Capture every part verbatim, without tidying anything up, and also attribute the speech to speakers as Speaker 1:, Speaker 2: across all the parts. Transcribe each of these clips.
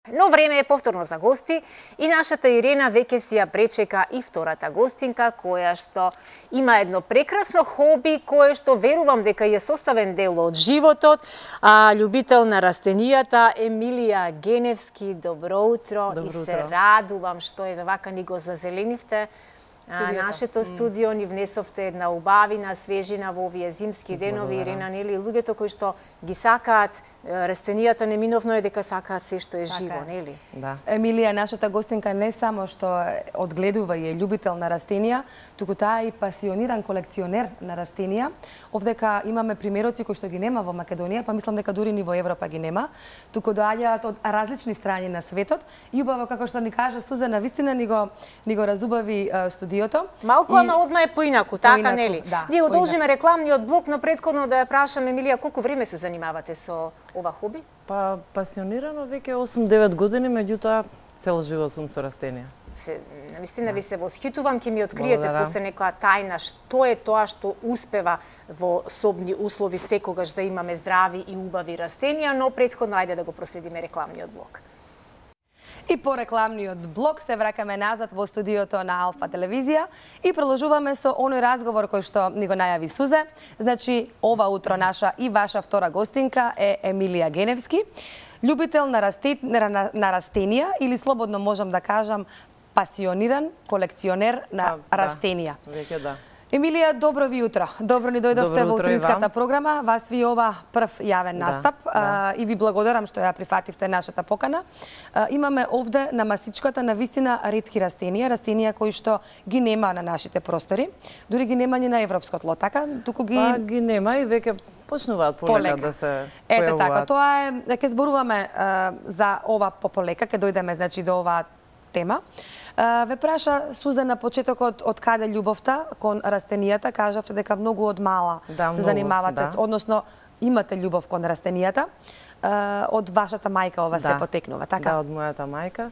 Speaker 1: Но време е повторно за гости и нашата Ирена веќе си ја пречека и втората гостинка, која што има едно прекрасно хоби, кое што верувам дека е составен дел од животот, а љубител на растенијата Емилија Геневски. Добро утро.
Speaker 2: Добро
Speaker 1: и
Speaker 2: утро.
Speaker 1: Се радувам што е вака ни го зазеленивте а, нашето студио, ни внесовте една убавина, свежина во овие зимски денови. Ирена, нели, луѓето кои што ги сакаат растенијата, неминовно е дека сакаат се што е
Speaker 3: Така
Speaker 1: живо,
Speaker 3: е.
Speaker 1: нели?
Speaker 3: Да. Емилија, нашата гостинка, не само што одгледува и е љубител на растенија, туку таа е и пасиониран колекционер на растенија. Овдека имаме примероци кои што ги нема во Македонија, па мислам дека дури ни во Европа ги нема, туку доаѓаат од различни страни на светот. И убаво, како што ни кажа Сузана, вистина ни го ни го разубави е, студиото.
Speaker 1: Малку,
Speaker 3: И-
Speaker 1: ама одма е поинаку, така,
Speaker 3: Поинаку,
Speaker 1: нели?
Speaker 3: да,
Speaker 1: Ние удолжиме
Speaker 3: поинаку.
Speaker 1: рекламниот блок, но претходно да ја прашам, Емилија, колку време се занимавате со ова хоби?
Speaker 2: Па пасионирано веќе осум-девет години, меѓутоа цел живот сум со растенија.
Speaker 1: Се, навистина ви се восхитувам, ќе ми откриете
Speaker 2: Благодарам.
Speaker 1: после некоја тајна што е тоа што успева во собни услови секогаш да имаме здрави и убави растенија, но претходно ајде да го проследиме рекламниот блок.
Speaker 3: И по рекламниот блок се вракаме назад во студиото на Алфа телевизија и продолжуваме со оној разговор кој што ни го најави Сузе. Значи, ова утро наша и ваша втора гостинка е Емилија Геневски, љубител на, расте... на, на растенија или слободно можам да кажам пасиониран колекционер на
Speaker 2: Па, да.
Speaker 3: растенија.
Speaker 2: Веќе да.
Speaker 3: Емилија, добро ви утро. Добро ни дојдовте
Speaker 2: Добро
Speaker 3: во
Speaker 2: утро и
Speaker 3: утринската
Speaker 2: вам.
Speaker 3: програма. Вас ви ова прв јавен
Speaker 2: Да,
Speaker 3: настап
Speaker 2: да.
Speaker 3: а, и ви благодарам што ја прифативте нашата покана. А, имаме овде на масичката на вистина ретки растенија, растенија кои што ги нема на нашите простори, дури ги нема ни на европското тло, така? Туку ги
Speaker 2: Па ги нема и веќе почнуваат полека,
Speaker 3: полека
Speaker 2: да се
Speaker 3: Ете така,
Speaker 2: појавуваат.
Speaker 3: тоа е, ќе зборуваме а, за ова пополека, ќе дојдеме значи до оваа тема. А, Ве праша Суза на почетокот од каде љубовта кон растенијата, кажавте дека многу од мала
Speaker 2: Да,
Speaker 3: се
Speaker 2: многу,
Speaker 3: занимавате,
Speaker 2: да.
Speaker 3: с- односно имате љубов кон растенијата. А, Од вашата мајка ова се потекнува, така?
Speaker 2: Да, од мојата мајка.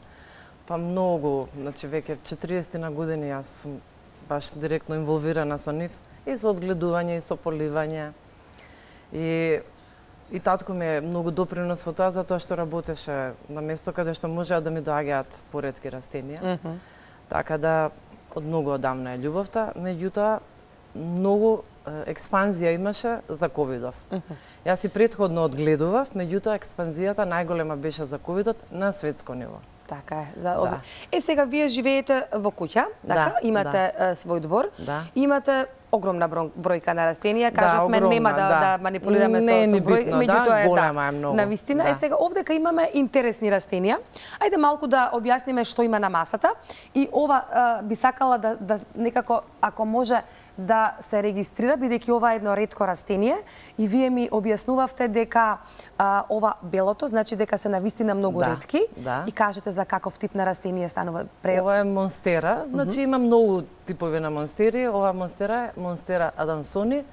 Speaker 2: Па многу, значи веќе четириесет на години јас сум баш директно инволвирана со нив и со одгледување и со поливање. И и татко ми е многу допринос во тоа затоа што работеше на место каде што можеа да ми доаѓаат поретки растенија. Така да од многу одамна е љубовта, меѓутоа многу е, експанзија имаше за ковидов. Јас и претходно одгледував, меѓутоа експанзијата најголема беше за ковидот на светско ниво.
Speaker 3: Така е. За...
Speaker 2: Да.
Speaker 3: Е, сега вие живеете во куќа, така?
Speaker 2: Да,
Speaker 3: Имате е, свој двор,
Speaker 2: Да.
Speaker 3: имате огромна бро- бројка на растенија,
Speaker 2: Да,
Speaker 3: кажавме,
Speaker 2: огромна,
Speaker 3: нема да,
Speaker 2: да.
Speaker 3: да манипулираме
Speaker 2: Не е
Speaker 3: со,
Speaker 2: ни
Speaker 3: со број,
Speaker 2: битно, да,
Speaker 3: меѓутоа е
Speaker 2: голема е
Speaker 3: да,
Speaker 2: многу.
Speaker 3: навистина.
Speaker 2: Да.
Speaker 3: Е, сега овдека имаме интересни растенија. Ајде малку да објасниме што има на масата и ова а, би сакала да, да некако, ако може, да се регистрира, бидејќи ова е едно ретко растение и вие ми објаснувавте дека а, ова белото, значи дека се навистина многу
Speaker 2: Да,
Speaker 3: ретки
Speaker 2: да.
Speaker 3: и кажете за каков тип на растение станува пре...
Speaker 2: Ова е монстера, значи има многу типови на монстери. Ова монстера е монстера Adansoni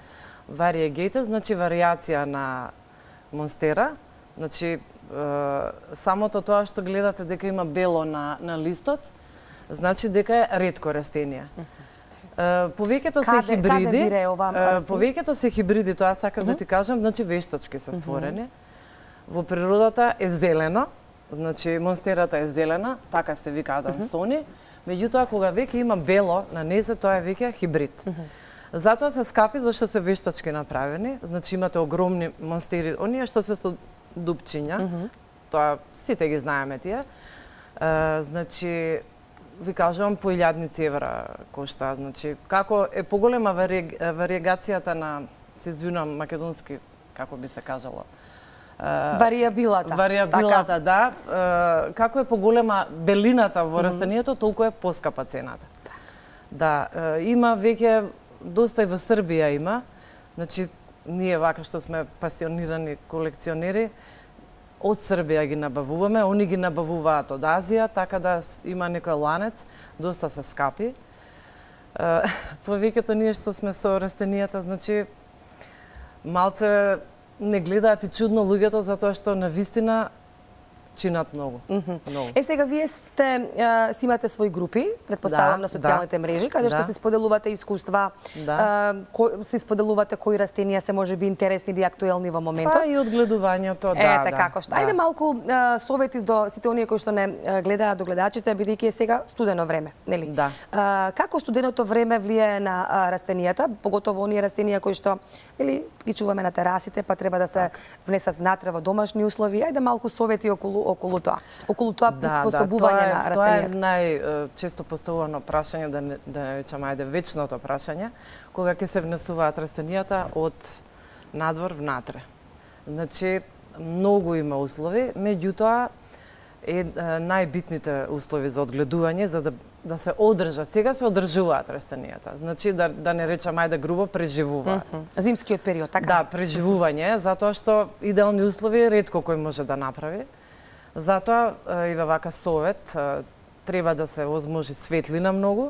Speaker 2: variegated, значи варијација на монстера. Значи е, самото тоа што гледате дека има бело на на листот, значи дека е ретко растение. Е, Повеќето се
Speaker 3: Каде-
Speaker 2: хибриди.
Speaker 3: каде бире ова
Speaker 2: е,
Speaker 3: растение?
Speaker 2: Повеќето се хибриди, тоа сакам да ти кажам, значи вештачки се створени. Во природата е зелено, значи монстерата е зелена, така се вика Adansoni, меѓутоа кога веќе има бело на незе, тоа е веќе хибрид. Затоа се скапи зашто се вештачки направени, значи имате огромни монстери, оние што се со дупчиња, тоа сите ги знаеме тие. Е, значи ви кажувам по илјадници евра кошта, значи како е поголема вари... вариегацијата на, се извинувам македонски, како би се кажало,
Speaker 3: Варијабилата.
Speaker 2: Варијабилата,
Speaker 3: така.
Speaker 2: да. Е, Како е поголема белината во растението, толку е поскапа цената. Да, е, има веќе доста и во Србија има. Значи ние вака што сме пасионирани колекционери, од Србија ги набавуваме, они ги набавуваат од Азија, така да с- има некој ланец, доста се скапи. Е, Повеќето ние што сме со растенијата, значи малце не гледаат и чудно луѓето затоа што на вистина чинат многу. Многу.
Speaker 3: Е, сега вие сте, а, си имате свои групи, предпоставам,
Speaker 2: Да,
Speaker 3: на социјалните
Speaker 2: да.
Speaker 3: мрежи, каде што
Speaker 2: Да.
Speaker 3: се споделувате искуства,
Speaker 2: Да.
Speaker 3: а, кој, се споделувате кои растенија се можеби интересни или актуелни во моментот.
Speaker 2: Па и одгледувањето, да,
Speaker 3: Ете,
Speaker 2: да.
Speaker 3: како што.
Speaker 2: Да.
Speaker 3: Ајде малку а, совети до сите оние кои што не а, гледаат, до гледачите, бидејќи е сега студено време, нели?
Speaker 2: Да.
Speaker 3: А, како студеното време влијае на а, растенијата, поготово оние растенија кои што, нели, ги чуваме на терасите, па треба да се внесат внатре во домашни услови. Ајде малку совети околу околу тоа. Околу тоа приспособување на растенијата.
Speaker 2: Тоа е најчесто поставувано прашање, да не, да не речам ајде вечното прашање, кога ќе се внесуваат растенијата од надвор внатре. Значи, многу има услови, меѓутоа е најбитните услови за одгледување за да да се одржат. Сега се одржуваат растенијата. Значи да да не речам ајде грубо преживуваат.
Speaker 3: Mm -hmm. Зимскиот период, така?
Speaker 2: Да, преживување, затоа што идеални услови ретко кој може да направи. Затоа и во вака совет треба да се возможи светлина многу,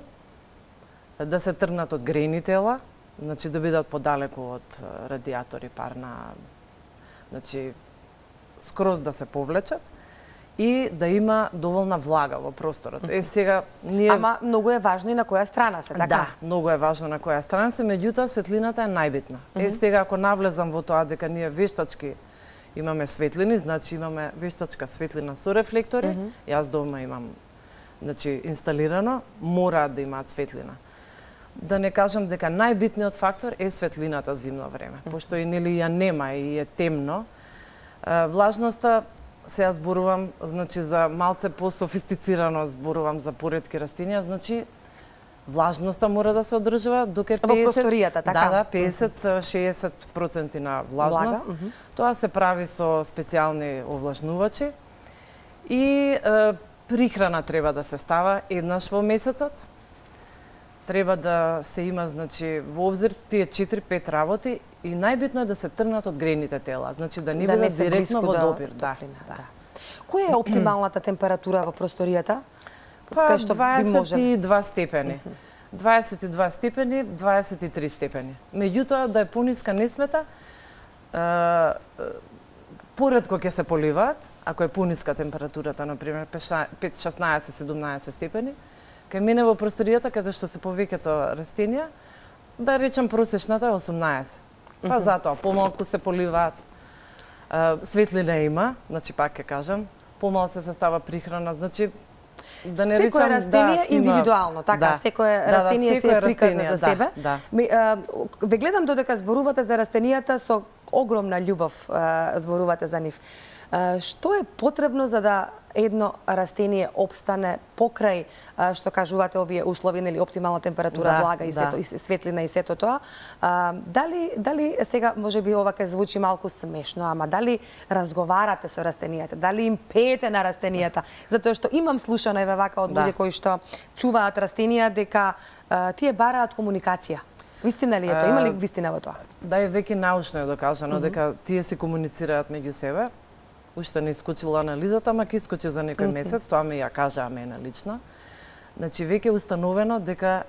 Speaker 2: да се тргнат од грејни тела, значи да бидат подалеку од радиатори, парна, значи скроз да се повлечат и да има доволна влага во просторот. Е сега ние
Speaker 3: Ама многу е важно и на која страна се, така?
Speaker 2: Да, многу е важно на која страна се, меѓутоа светлината е најбитна. Mm -hmm. Е сега ако навлезам во тоа дека ние вештачки имаме светлини, значи имаме вештачка светлина со рефлектори. Mm -hmm. Јас дома имам значи инсталирано, мора да имаат светлина. Да не кажам дека најбитниот фактор е светлината зимно време, mm -hmm. пошто и нели ја нема и е темно. Влажноста сега зборувам значи за малце по-софистицирано зборувам за поретки растенија, значи влажноста мора да се одржува до ке педесет
Speaker 3: во просторијата, така?
Speaker 2: Да, да, педесет до шеесет проценти на влажност.
Speaker 3: Влага,
Speaker 2: Тоа се прави со специјални овлажнувачи и е, прихрана треба да се става еднаш во месецот. Треба да се има значи во обзир тие четири-пет работи и најбитно е да се тргнат од грејните тела, значи да не
Speaker 3: Да не
Speaker 2: бидат
Speaker 3: се
Speaker 2: директно
Speaker 3: блиску
Speaker 2: во
Speaker 3: до
Speaker 2: допир, да.
Speaker 3: топлина,
Speaker 2: Да.
Speaker 3: да. Која е оптималната температура во просторијата?
Speaker 2: Па
Speaker 3: Кај што би
Speaker 2: дваесет и два степени. дваесет и два степени, дваесет и три степени. Меѓутоа да е пониска не смета, е, поретко ќе се поливаат, ако е пониска температурата, на пример пет, шеснаесет, седумнаесет степени, кај мене во просторијата каде што се повеќето растенија, да речем просечната е осумнаесет. Па затоа помалку се поливаат, светлина има, значи пак ќе кажам, помалку се става прихрана, значи да не речам
Speaker 3: секое растение
Speaker 2: да,
Speaker 3: индивидуално, така,
Speaker 2: да,
Speaker 3: секое
Speaker 2: да,
Speaker 3: растение
Speaker 2: да,
Speaker 3: се е приказно
Speaker 2: растение,
Speaker 3: за себе.
Speaker 2: Да, да.
Speaker 3: Ми, а, ве гледам додека зборувате за растенијата со огромна љубов а, зборувате за нив. А, што е потребно за да едно растение опстане покрај а, што кажувате овие услови, нели оптимална температура,
Speaker 2: Да,
Speaker 3: влага и
Speaker 2: да.
Speaker 3: сето и светлина и сето тоа? А, дали дали сега можеби ова ќе звучи малку смешно, ама дали разговарате со растенијата, дали им пеете на растенијата? Затоа што имам слушано еве вака од луѓе
Speaker 2: Да.
Speaker 3: кои што чуваат растенија дека а, тие бараат комуникација. Вистина ли е тоа? Има ли вистина во тоа?
Speaker 2: Да, е веќе научно е докажано mm -hmm. дека тие се комуницираат меѓу себе. Уште не искочила анализата, ама ќе искочи за некој месец, тоа ми ја кажаа мене лично. Значи, веќе е установено дека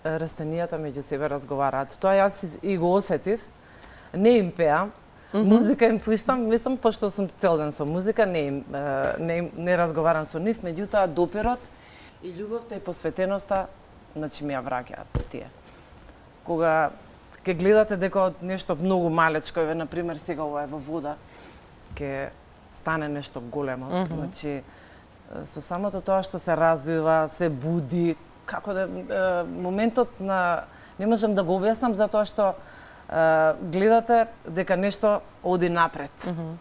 Speaker 2: растенијата меѓу себе разговараат. Тоа јас и го осетив. Не им пеам, mm -hmm. музика им пуштам, мислам, пошто сум цел ден со музика, не, им, не, не разговарам со нив, меѓутоа допирот и љубовта и посветеноста, значи ми ја враќаат тие. Кога ќе гледате дека од нешто многу малечко, еве, например, сега ова е во вода, ќе стане нешто големо. Mm -hmm. Значи, со самото тоа што се развива, се буди, како да е, моментот на не можам да го објаснам затоа што е, гледате дека нешто оди напред. Mm -hmm.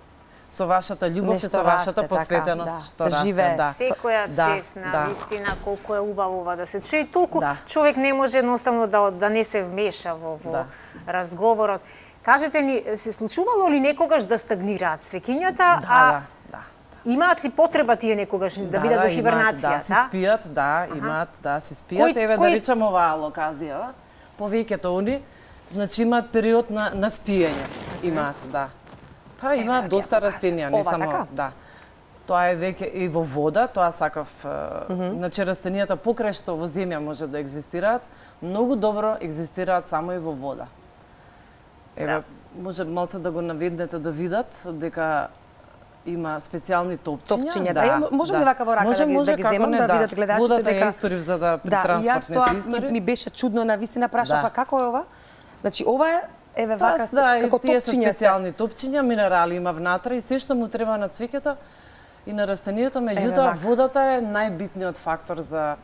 Speaker 2: Со вашата љубов
Speaker 3: нешто
Speaker 2: и со вашата
Speaker 3: расте,
Speaker 2: посветеност
Speaker 3: така,
Speaker 2: што
Speaker 3: да.
Speaker 2: расте,
Speaker 3: Живее.
Speaker 2: да.
Speaker 1: Секоја
Speaker 2: Да,
Speaker 1: честна,
Speaker 2: да.
Speaker 1: вистина, колку е убаво ова да се чуе. И толку
Speaker 2: Да.
Speaker 1: човек не може едноставно да, да не се вмеша во, во
Speaker 2: Да.
Speaker 1: разговорот. Кажете ни, се случувало ли некогаш да стагнираат свеќињата,
Speaker 2: Да,
Speaker 1: а
Speaker 2: да, да.
Speaker 1: имаат ли потреба тие некогаш да, бидат во хибернација?
Speaker 2: Имаат, да, си спијат, да, имаат, да, си спијат.
Speaker 1: Кој-
Speaker 2: Еве
Speaker 1: кој-
Speaker 2: да речам оваа локазија, повеќето они, значи имаат период на, на спиење. Имаат, да. Па имаат
Speaker 1: да,
Speaker 2: доста
Speaker 1: ја покажа.
Speaker 2: растенија, не
Speaker 3: Ова,
Speaker 2: само,
Speaker 3: така?
Speaker 2: да. Тоа е веќе и во вода, тоа сакав, mm -hmm. значи растенијата покрај што во земја може да екзистираат, многу добро екзистираат само и во вода. Еве,
Speaker 1: Да.
Speaker 2: може малце да го наведнете да видат дека има специјални топчиња.
Speaker 3: Топчиња, да. да. Можеме да. Вака во рака
Speaker 2: може,
Speaker 3: да ги,
Speaker 2: може,
Speaker 3: да ги земам, да, да видат гледачите
Speaker 2: водата
Speaker 3: дека...
Speaker 2: ја историв за да при
Speaker 3: да,
Speaker 2: транспорт не се истори.
Speaker 3: Ми, ми беше чудно, навистина прашав, да. Како е ова? Значи, ова е, еве вака,
Speaker 2: да,
Speaker 3: како
Speaker 2: тие се
Speaker 3: топчиња
Speaker 2: специјални топчиња, минерали има внатре и се што му треба на цвеќето и на растението, меѓутоа водата е најбитниот фактор за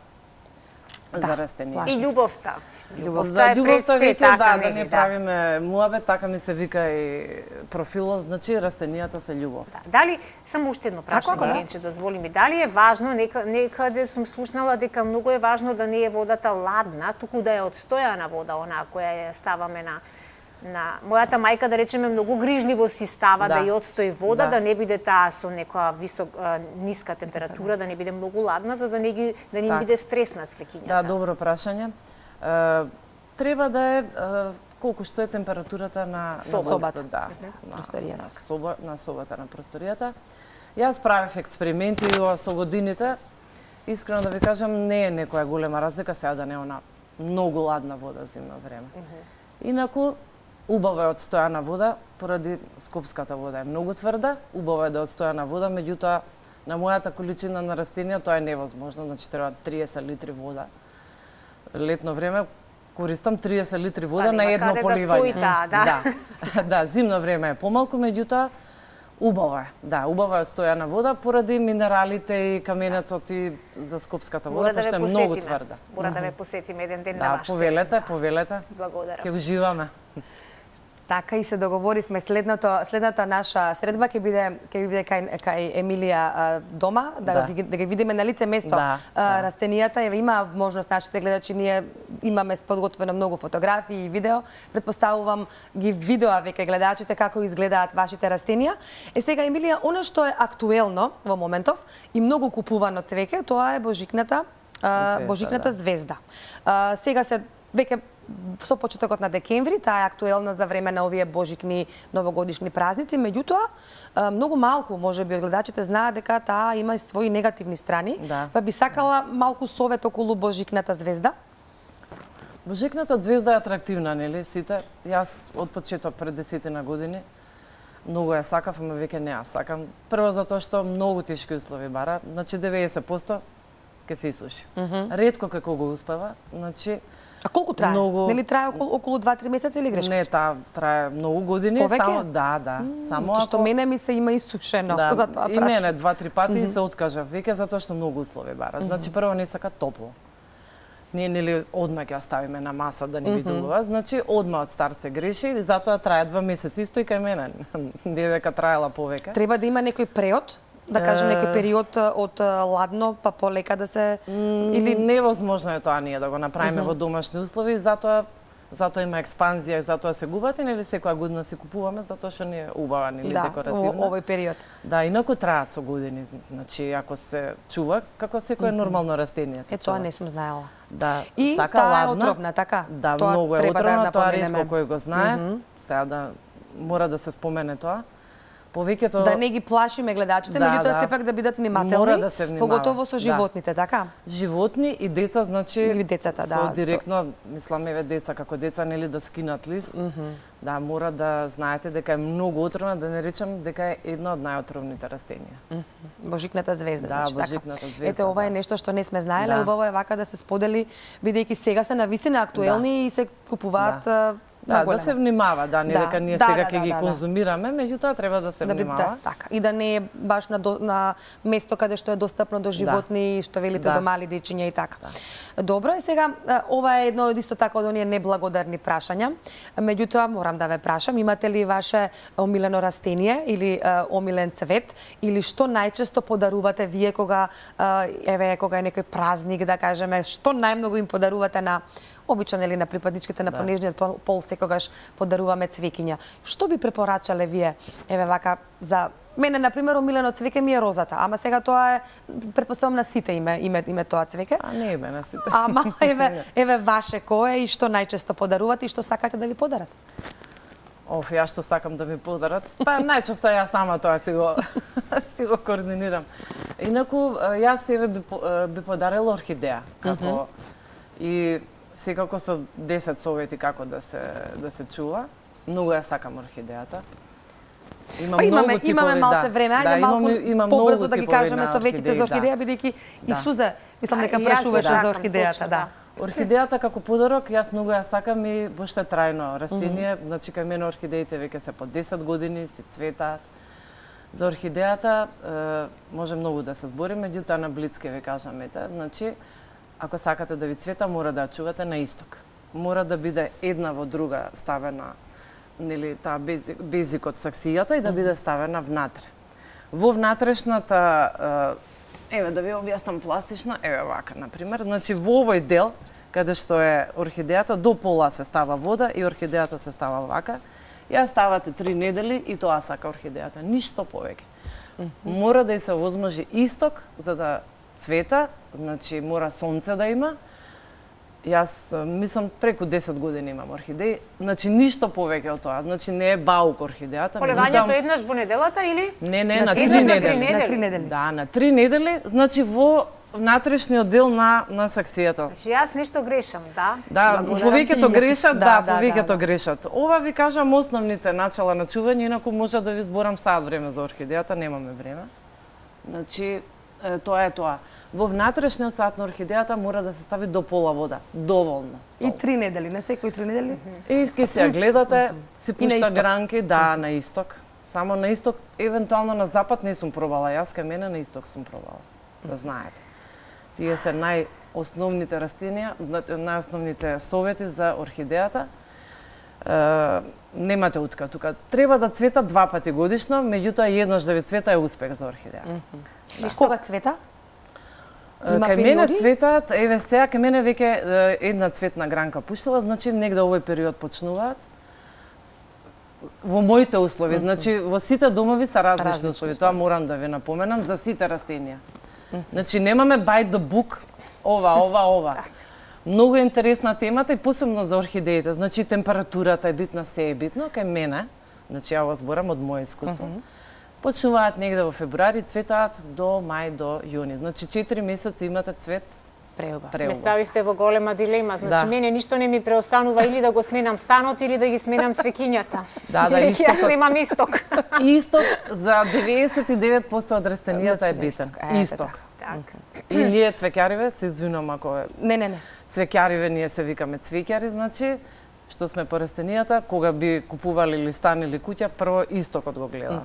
Speaker 2: да, за растението.
Speaker 1: И љубовта.
Speaker 2: Љубовта е пред се, така да, да не правиме муабет, така ми се вика и профилот, значи растенијата се љубов.
Speaker 1: Да. Дали, само уште едно прашање, Ленче, дозволи ми, дали е важно, нека, некаде сум слушнала дека многу е важно да не е водата ладна, туку да е одстојана вода, онаа која ја ставаме на на мојата мајка, да речеме, многу грижливо си става да, да ја одстои вода, да. да не биде таа со некоја висок ниска температура, да не биде многу ладна, за да не ги да не биде стрес на цвеќињата.
Speaker 2: Да, добро прашање. Uh, треба да е uh, колку што е температурата на
Speaker 3: собата,
Speaker 2: да,
Speaker 3: на просторијата.
Speaker 2: На, соба, на собата на просторијата. Јас правев експерименти со годините. Искрено да ви кажам, не е некоја голема разлика сега да не е она многу ладна вода зимно време. Uh -huh. Инаку убава е одстојана вода, поради скопската вода е многу тврда, убава е да е одстојана вода, меѓутоа на мојата количина на растенија тоа е невозможно, значи треба триесет литри вода. Летно време користам триесет литри вода
Speaker 1: па,
Speaker 2: на едно поливање.
Speaker 1: Да, да.
Speaker 2: да. да, зимно време е помалку, меѓутоа убава е. Да, убава е стојана вода поради минералите и каменецот и за скопската вода,
Speaker 1: да
Speaker 2: што е многу тврда.
Speaker 1: Мора да ве посетиме еден ден
Speaker 2: да,
Speaker 1: на вашата.
Speaker 2: повелете, повелете.
Speaker 1: Благодарам.
Speaker 2: Ќе уживаме.
Speaker 3: Така и се договоривме следното следната наша средба ќе биде ќе биде кај кај Емилија а, дома да, да. да ги видиме на лице место да, а, да. растенијата. Еве има можност нашите гледачи, ние имаме подготвено многу фотографии и видео. Претпоставувам ги видоа веќе гледачите како изгледаат вашите растенија. Е сега Емилија, она што е актуелно во моментов и многу купувано цвеќе, тоа е божикната а, звезда, божикната да. звезда. А, сега се веќе со почетокот на декември, таа е актуелна за време на овие божикни новогодишни празници, меѓутоа многу малку можеби гледачите знаат дека таа има и своји негативни страни,
Speaker 2: да.
Speaker 3: па би сакала малку совет околу божикната звезда.
Speaker 2: Божикната звезда е атрактивна, нели? Сите, јас од почеток пред десетина години многу ја сакав, ама веќе не ја сакам. Прво затоа што многу тешки услови бара, значи деветдесет проценти ќе се исуши. Mm -hmm. Ретко како го успева, значи
Speaker 3: А колку трае? Многу... Нели трае околу, околу два-три месеци или грешка?
Speaker 2: Не, таа трае многу години.
Speaker 3: Повеќе?
Speaker 2: Само, да, да.
Speaker 3: Mm,
Speaker 2: само
Speaker 3: ако... што мене ми се има исушено.
Speaker 2: Да,
Speaker 3: затоа
Speaker 2: и мене два-три пати mm -hmm. се откажав веќе затоа што многу услови бара. Значи, прво не сака топло. Ние нели одма ќе ставиме на маса да не бидува. Mm -hmm. Значи, одма од старт се греши и затоа трае два месеци исто и кај мене. Не дека траела повеќе.
Speaker 3: Треба да има некој преод? Да кажем некој период од ладно па полека да се
Speaker 2: или невозможно е тоа ние да го направиме uh -huh. во домашни услови, затоа затоа има експанзија и затоа се губат и нели секоја година се купуваме затоа што не е убава нели
Speaker 3: да,
Speaker 2: декоративна.
Speaker 3: Да, овој период.
Speaker 2: Да, инаку траат со години, значи ако се чува како секое uh -huh. нормално растение се
Speaker 3: е,
Speaker 2: чува.
Speaker 3: Е тоа не сум знаела.
Speaker 2: Да,
Speaker 3: и
Speaker 2: сака
Speaker 3: таа
Speaker 2: ладна.
Speaker 3: е отровна, така?
Speaker 2: Да,
Speaker 3: тоа
Speaker 2: многу е отровна, да тоа ретко кој го знае. Uh -huh. Сега да мора да се спомене тоа. Повеќето
Speaker 3: да не ги плашиме гледачите,
Speaker 2: да,
Speaker 3: меѓутоа
Speaker 2: да.
Speaker 3: сепак да бидат внимателни,
Speaker 2: мора да се внимава.
Speaker 3: Поготово со животните, да. Така?
Speaker 2: Животни и деца, значи
Speaker 3: и децата, да.
Speaker 2: Со директно, мислам еве деца како деца нели да скинат лист. Mm -hmm. Да, мора да знаете дека е многу отровна, да не речам дека е една од најотровните растенија. Mm -hmm.
Speaker 3: Божикната звезда,
Speaker 2: да,
Speaker 3: значи
Speaker 2: божикната
Speaker 3: така.
Speaker 2: звезда.
Speaker 3: Ете, ова
Speaker 2: да.
Speaker 3: е нешто што не сме знаеле,
Speaker 2: да.
Speaker 3: убаво е вака да се сподели, бидејќи сега се навистина актуелни да. И се купуваат
Speaker 2: да. Да, да се внимава, да, не
Speaker 3: да.
Speaker 2: дека ние
Speaker 3: да,
Speaker 2: сега
Speaker 3: да,
Speaker 2: ќе
Speaker 3: да,
Speaker 2: ги
Speaker 3: да,
Speaker 2: конзумираме, меѓутоа треба да се
Speaker 3: да,
Speaker 2: внимава.
Speaker 3: Да, така. И да не е баш на, до, на место каде што е достапно до животни, да. Што велите да. До мали дечиња и така. Да. Добро е сега, ова е едно од исто така од оние неблагодарни прашања. Меѓутоа, морам да ве прашам, имате ли ваше омилено растение или uh, омилен цвет, или што најчесто подарувате вие кога, uh, еве, кога е некој празник, да кажеме, што најмногу им подарувате на обичен или на припадничките на да. Понежниот пол, пол секогаш подаруваме цвеќиња. Што би препорачале вие, еве вака, за мене, например, омилено цвеќе ми е розата, ама сега тоа е, претпоставам на сите име, име, име тоа цвеќе.
Speaker 2: А не име на сите.
Speaker 3: Ама, еве, еве ваше кој е и што најчесто подарувате и што сакате да ви подарат?
Speaker 2: Оф, јас што сакам да ми подарат? Па најчесто јас сама тоа си го, си го координирам. Инаку, јас еве би, би подарила орхидеја, како mm -hmm. и секако со десет совети како да се да се чува. Многу ја сакам орхидејата. Има
Speaker 3: Па имаме,
Speaker 2: многу
Speaker 3: имаме
Speaker 2: типови,
Speaker 3: малце
Speaker 2: да.
Speaker 3: време, ајде
Speaker 2: Да,
Speaker 3: малку
Speaker 2: имаме- има
Speaker 3: побрзо
Speaker 2: многу
Speaker 3: да ги
Speaker 2: типови
Speaker 3: кажеме
Speaker 2: на
Speaker 3: советите за
Speaker 2: орхидеи,
Speaker 3: орхидеја,
Speaker 2: да.
Speaker 3: бидејќи и
Speaker 2: Да.
Speaker 3: Суза, мислам дека
Speaker 1: А, и јас
Speaker 3: прашуваше
Speaker 1: се
Speaker 3: за
Speaker 1: сакам,
Speaker 3: орхидејата,
Speaker 1: точно,
Speaker 3: да.
Speaker 2: Орхидејата како подарок, јас многу ја сакам и баш е трајно растение, значи кај мене орхидеите веќе се по десет години, си цветаат. За орхидејата е, може многу да се збори, меѓутоа на блицки ви кажам, ете, значи ако сакате да ви цвета, мора да ја чувате на исток. Мора да биде една во друга ставена, нели таа безик, безик од саксијата и да биде ставена внатре. Во внатрешната, е, еве да ви објаснам пластично, еве вака на пример, значи во овој дел каде што е орхидејата, до пола се става вода и орхидејата се става вака. Ја ставате три недели и тоа сака орхидејата, ништо повеќе. Мора да и се возможи исток за да цвета, значи мора сонце да има. Јас мислам преку десет години имам орхидеи, значи ништо повеќе од тоа, значи не е баук орхидејата.
Speaker 1: Полевањето еднаш во неделата или?
Speaker 2: Не, не,
Speaker 3: На
Speaker 2: на
Speaker 3: три
Speaker 2: три
Speaker 1: недели.
Speaker 2: недели.
Speaker 3: На три недели.
Speaker 2: Да, на три недели, значи во внатрешниот дел на на саксијата.
Speaker 1: Значи јас ништо грешам, да?
Speaker 2: Да,
Speaker 3: Благодарам
Speaker 2: повеќето
Speaker 3: ти.
Speaker 2: грешат,
Speaker 3: Да,
Speaker 2: да,
Speaker 3: да,
Speaker 2: повеќето
Speaker 3: да, да.
Speaker 2: грешат. Ова ви кажам основните начала на чување, инаку може да ви зборам саат време за орхидејата, немаме време. Значи, е, тоа е тоа. Во внатрешниот сад на орхидејата мора да се стави до пола вода, доволно.
Speaker 3: И три недели, на секој три недели?
Speaker 2: И ке се ја гледате, си
Speaker 3: И на
Speaker 2: пушта
Speaker 3: исток.
Speaker 2: гранки, да, на исток. Само на исток, евентуално на запад не сум пробала, јас кај мене на исток сум пробала, да знаете. Тие се најосновните растенија, најосновните совети за орхидејата. Е, немате утка тука. Треба да цвета два пати годишно, меѓутоа еднаш да ви цвета е успех за орхидејата.
Speaker 3: И кога цвета? Има
Speaker 2: Кај мене
Speaker 3: периоди?
Speaker 2: цветаат, еве сега кај мене веќе е, една цветна гранка пуштила, значи негде овој период почнуваат. Во моите услови, значи во сите домови се различни
Speaker 3: Различни
Speaker 2: услови, тоа морам да ви напоменам за сите растенија. Значи немаме by the book, ова, ова, ова. Многу е интересна темата и посебно за орхидеите. Значи температурата е битна, се е битно, кај мене, значи ја го зборам од моје искуство. Почнуваат негде во февруари, цветаат до мај, до јуни. Значи четири месеци имате цвет,
Speaker 3: Преубав.
Speaker 1: Ме
Speaker 2: преубав.
Speaker 1: ставивте во голема дилема, значи
Speaker 2: Да.
Speaker 1: мене ништо не ми преостанува или да го сменам станот или да ги сменам цвеќињата.
Speaker 2: Да, да,
Speaker 1: Бидејќи
Speaker 2: истокот.
Speaker 1: Јас немам исток.
Speaker 2: Исток за деветдесет и девет проценти од растенијата е
Speaker 3: Значи,
Speaker 2: битен.
Speaker 3: исток, ете
Speaker 2: Исток.
Speaker 1: Така.
Speaker 2: И ние цвеќариве, се извинувам ако е
Speaker 3: Не, не, не.
Speaker 2: цвеќариве, ние се викаме цвеќари, значи, што сме по растенијата, кога би купували или стан или куќа, прво истокот го гледам.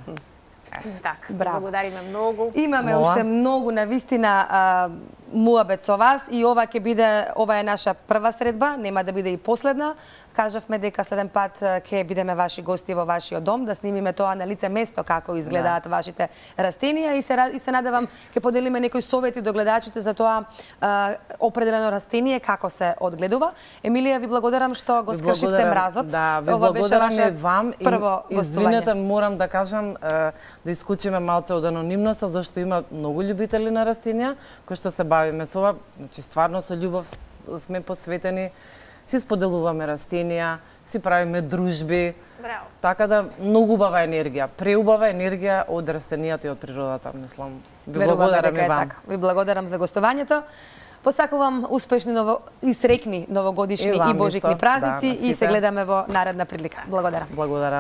Speaker 1: Така,
Speaker 3: Браво.
Speaker 1: благодариме многу.
Speaker 3: Имаме
Speaker 2: Мола.
Speaker 3: уште многу навистина а, муабет со вас и ова ќе биде, ова е наша прва средба, нема да биде и последна. Кажавме дека следен пат а, ќе бидеме ваши гости во вашиот дом, да снимиме тоа на лице место како изгледаат да. вашите растенија и се ра- и се надевам ќе поделиме некои совети до гледачите за тоа а, определено растение како се одгледува. Емилија, ви благодарам што го
Speaker 2: Ви
Speaker 3: скршивте
Speaker 2: благодарам-
Speaker 3: мразот.
Speaker 2: Да, ви
Speaker 3: Ова беше
Speaker 2: благодарам
Speaker 3: ваше
Speaker 2: и вам и
Speaker 3: прво
Speaker 2: извинете,
Speaker 3: гостување.
Speaker 2: морам да кажам е, да исклучиме малце од анонимноста, зашто има многу љубители на растенија кои што се бавиме со ова, значи стварно со љубов с- сме посветени, си споделуваме растенија, си правиме дружби.
Speaker 1: Браво.
Speaker 2: Така да многу убава енергија, преубава енергија од растенијата и од природата, мислам. Ви
Speaker 3: Веруваме
Speaker 2: благодарам
Speaker 3: дека
Speaker 2: и
Speaker 3: е
Speaker 2: вам.
Speaker 3: така. Ви благодарам за гостувањето. Посакувам успешни ново и срекни новогодишни
Speaker 2: И
Speaker 3: и,
Speaker 2: вам
Speaker 3: божикни
Speaker 2: исто.
Speaker 3: празници
Speaker 2: Да, на
Speaker 3: и се
Speaker 2: сите.
Speaker 3: гледаме во наредна прилика. Благодарам.
Speaker 2: Благодарам.